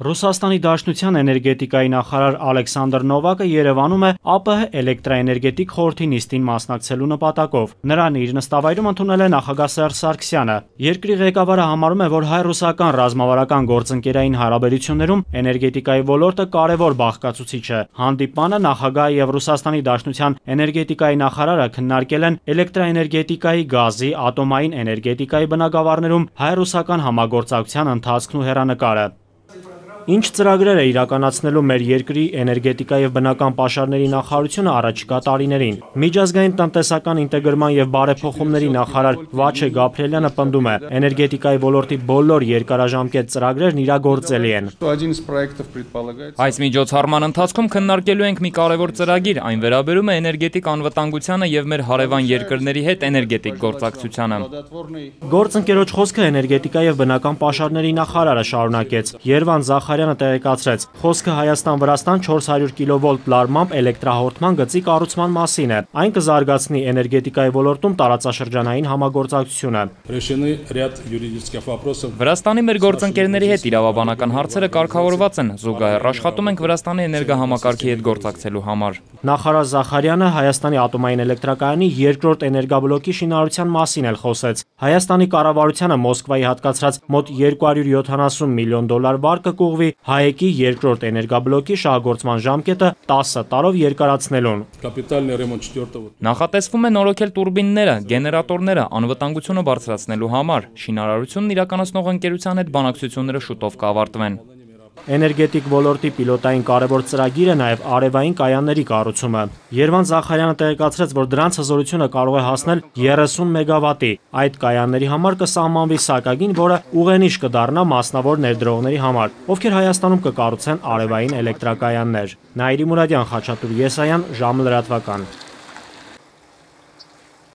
Ռուսաստանի Դաշնության էներգետիկայի նախարար Ալեքսանդր Նովակը Երևանում է ԱՊՀ էլեկտրաէներգետիկ խորհրդի նիստին մասնակցելու նպատակով։ Նրան իր նստավայրում ընդունել է նախագահ Սերժ Սարգսյանը։ Երկրի ղեկավարը համարում է, որ հայ-ռուսական ռազմավարական գործընկերային հարաբերություններում էներգետիկայի ոլորտը կարևոր բաղկացուցիչ է։ Հանդիպանը նախագահը եւ Ռուսաստանի Դաշնության էներգետիկայի նախարարը քննարկել են էլեկտրաէներգետիկայի, գազի, ատոմային էներգետիկայի բնագավառներում հայ-ռուսական համագործակցության ընթացքն ու հեռանկարը։ Ինչ ծրագրեր է իրականացնելու մեր երկրի էներգետիկա եւ բնական պաշարների նախարարությունը առաջիկա տարիներին։ Միջազգային տնտեսական ինտեգրման եւ բարեփոխումների նախարար Վաչե Գաբրիելյանը պնդում է, էներգետիկայի ոլորտի բոլոր երկարաժամկետ ծրագրերն իրագործելի են։ Այս միջոցառման ընթացքում քննարկելու ենք մի կարևոր ծրագիր, այն վերաբերում է էներգետիկ անվտանգությանը եւ մեր հարևան երկրների հետ էներգետիկ գործակցությանը։ Գործընկերոջ խոսքը էներգետիկա եւ բնական պաշարների նախարարը շարունակեց։ Երվան Զախարյանը տեղեկացրեց, խոսքը Հայաստան-Վրաստան 400 կՎ լարմամբ էլեկտրահաղորդման գծի կառուցման մասին է։ Այն կզարգացնի էներգետիկայի ոլորտում տարածաշրջանային համագործակցությունը։ Վրաստանի մեր գործընկերների հետ իրավաբանական հարցերը կարգավորված են, զուգահեռ աշխատում ենք Վրաստանի էներգահամակարգի հետ գործակցելու համար։ Նախարար Զախարյանը Հայաստանի ատոմային էլեկտրակայանի երկրորդ էներգաբլոկի շինարարության մասին էլ խոսեց։ Հայաստանի կառավարությանը Մոսկվայի հատկացրած մոտ 270 միլիոն դոլար վարկը կուղղվի ՀԱԵԿ-ի երկրորդ էներգաբլոկի շահագործման ժամկետը 10 տարով երկարացնելուն։ Նախատեսվում է նորոգել տուրբինները, գեներատորները անվտանգությունը բարձրացնելու համար։ Շինարարությունն իրականացնող ընկերության հետ բանակցությունները շուտով կավարտվեն։ Էներգետիկ ոլորտի պիլոտային կարևոր ծրագիր է նաև արևային կայանների կառուցումը։ Երվան Զախարյանը տեղեկացրեց, որ դրանց հզորությունը կարող է հասնել 30 մեգավատի։ Այդ կայանների համար կսահմանվի սակագին, որը ուղենիշ կդառնա մասնավոր ներդրողների համար, ովքեր Հայաստանում կկառուցեն արևային էլեկտրակայաններ։ Նաիրի Մուրադյան, Խաչատուր Եսայան, ժամը լրատվական։